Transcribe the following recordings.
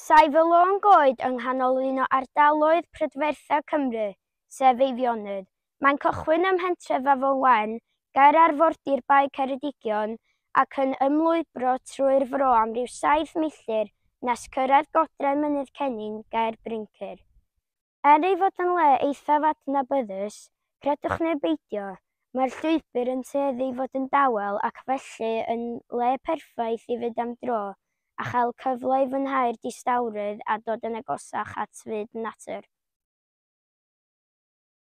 Saif y Lôn Goed yng nghanol un o ardaloedd prydfertha Cymru, sef Eifionydd. Mae'n cychwyn ym mhentref Afon Wen, ger arfordir Bae Ceredigion, ac yn ymlwybro trwy'r fro am ryw 7 milltir nes cyrraedd godre Mynydd Cennin ger Bryncir. Er ei fod yn le eithaf adnabyddus, credwch neu beidio, mae'r llwybr yn tueddu i fod yn dawel ac felly yn le perffaith i fynd am dro a chael cyfle i fwynhau'r distawrwydd a dod yn agosach at fyd natur.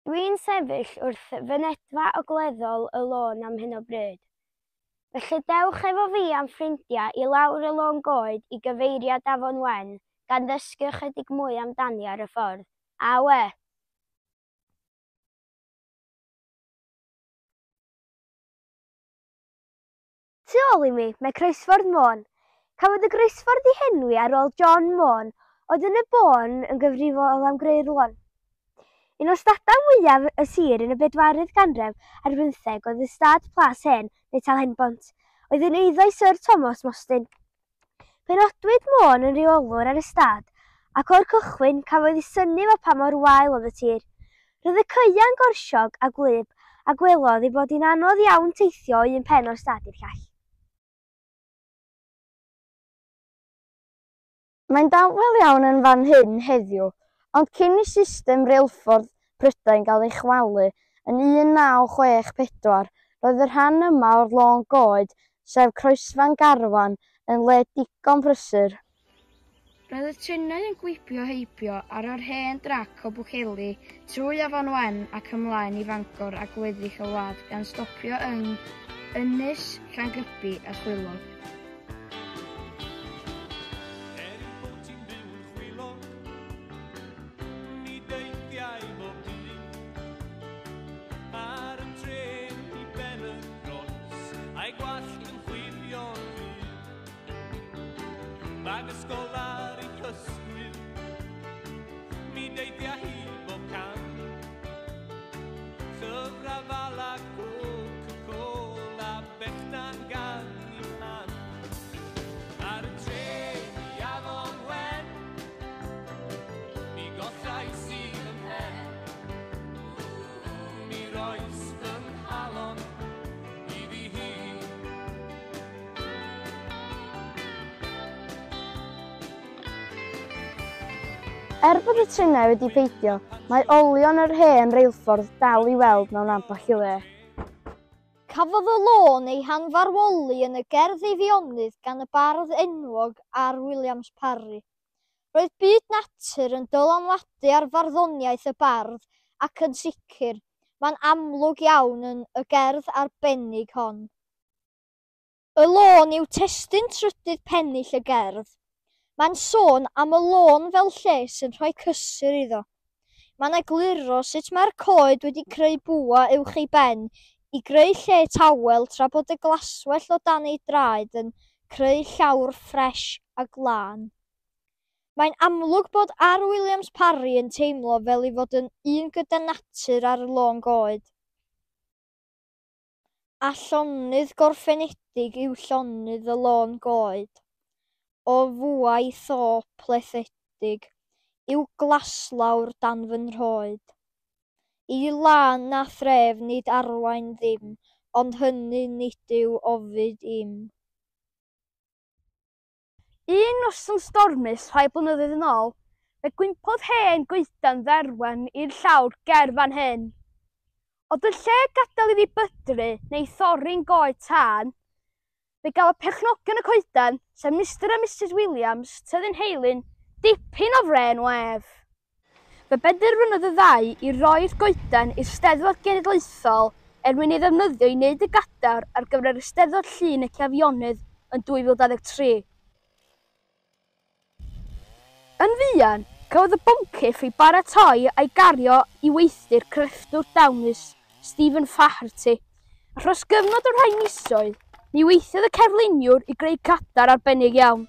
Dwi'n sefyll wrth fynedfa ogleddol y lôn am hyn o bryd. Felly dewch efo fi a'm ffrindiau i lawr y Lôn Goed i gyfeiriad Afon Wen gan ddysgu ychydig mwy amdani ar y ffordd. Awe! Tu ôl i mi mae Croesffordd Môn. Cafodd y groesffordd ei henwi ar ôl John Môn, oedd yn y bôn yn gyfrifol am greu'r lôn. Un o stadau mwyaf y sir yn y bedwaredd ganrif ar bymtheg oedd ystâd Plas Hen neu Talhenbont, oedd yn eiddo i Syr Thomas Mostyn. Penodwyd Môn yn reolwr ar y stad, ac o'r cychwyn cafodd ei synnu efo pa mor wael oedd y tir. Roedd y caeau'n gorsiog a gwlyb, a gwelodd ei bod hi'n anodd iawn teithio o un pen o'r stad i'r llall. Mae'n dawel iawn yn fan hyn heddiw, ond cyn i system reilffordd Prydain gael ei chwalu yn 1964, roedd y rhan yma o'r Lôn Goed, sef Croesfan Garfan, yn le digon prysur. Roedd y trenau yn gwibio heibio ar yr hen drac o Bwllheli trwy Afon Wen ac ymlaen i Fangor a gweddill y wlad gan stopio yng Ynys, Llangybi a Chwilog. Er ei bod hi'n byw yn Chwilog, mi deithiai bob dydd ar y trên i Ben y Groes, a'i gwallt yn chwifio'n rhydd. Bag ysgol ar ei hysgwydd, mi deithia hi bob cam. Llyfrau fala Coca-Cola, bechdan gan i mam. Ar y trên i Afon Wen, mi gollais i fy mhen. Mi rois fy nghalon iddi hi. Er bod y trenau wedi peidio, mae olion yr hen reilffordd dal i weld mewn ambell i le. Cafodd y lôn ei hanfarwoli yn y gerdd Eifionydd gan y bardd enwog R. Williams Parry. Roedd byd natur yn dylanwadu ar farddoniaeth y bardd ac yn sicr, mae'n amlwg iawn yn y gerdd arbennig hon. Y lôn yw testun trydydd pennill y gerdd. Mae'n sôn am y lôn fel lle sy'n rhoi cysur iddo. Mae'n egluro sut mae'r coed wedi creu bwa uwch ei ben i greu lle tawel tra bod y glaswellt o dan ei draed yn creu llawr ffres a glân. Mae'n amlwg bod R. Williams Parry yn teimlo fel ei fod yn un gyda natur ar y Lôn Goed. A llonydd gorffenedig yw llonydd y Lôn Goed, o fwâu tho plethedig yw glaslawr dan fy nhroed. I lân na thref nid arwain ddim, ond hynny nid yw ofid im. Un noson stormus rhai blynyddoedd yn ôl, fe gwympodd hen goedan dderwen i'r llawr ger fan hyn. Ond yn lle gadael iddi bydru neu thorri'n goed tân, fe gafodd perchnogion y coedan, sef Mr a Mrs Williams, Tyddyn Heilyn, dipyn o frên wef. Fe benderfynodd y ddau i roi'r goedan i'r Steddfod Genedlaethol er mwyn ei ddefnyddio i wneud y gadair ar gyfer yr Eisteddfod Llŷn ac Eifionydd yn 2023. Yn fuan, cafodd y boncyff ei baratoi a'i gario i weithdy'r crefftwr dawnus Stephen Flaherty, a thros gyfnod o rhai misoedd, mi weithiodd y cerfluniwr i greu cadair arbennig iawn.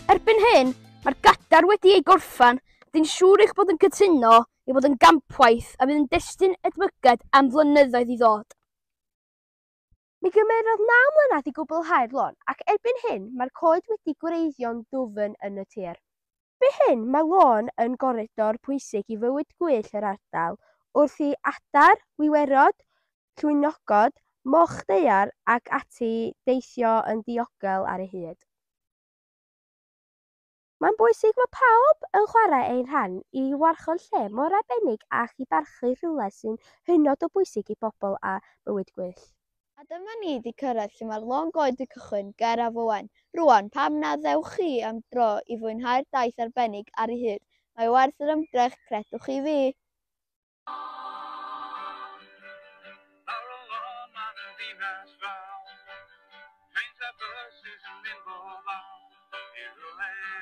Erbyn hyn, mae'r gadair wedi ei gorffen, a dwi'n siŵr eich bod yn cytuno ei bod yn gampwaith a fydd yn destun edmygedd am flynyddoedd i ddod. Mi gymerodd 9 mlynedd i gwblhau'r lôn ac erbyn hyn mae'r coed wedi gwreiddio'n ddwfn yn y tir. Erbyn hyn mae lôn yn goridor pwysig i fywyd gwyllt yr ardal wrth i adar, wiwerod, llwynogod, moch daear ac ati deithio yn ddiogel ar ei hyd. Mae'n bwysig fod pawb yn chwarae ein rhan i warchod lle mor arbennig ac i barchu rhywle sy'n hynod o bwysig i bobl a bywyd gwyllt. A dyma ni 'di cyrraedd lle mae'r lôn goed yn cychwyn, ger Afon Wen. Rŵan, pam na ddewch chi am dro i fwynhau'r daith arbennig ar ei hyd? Mae werth yr ymdrech, credwch chi fi! Lawr y lôn ar y ddinas fawr, Trains a buses yn mynd bob awr, i rywle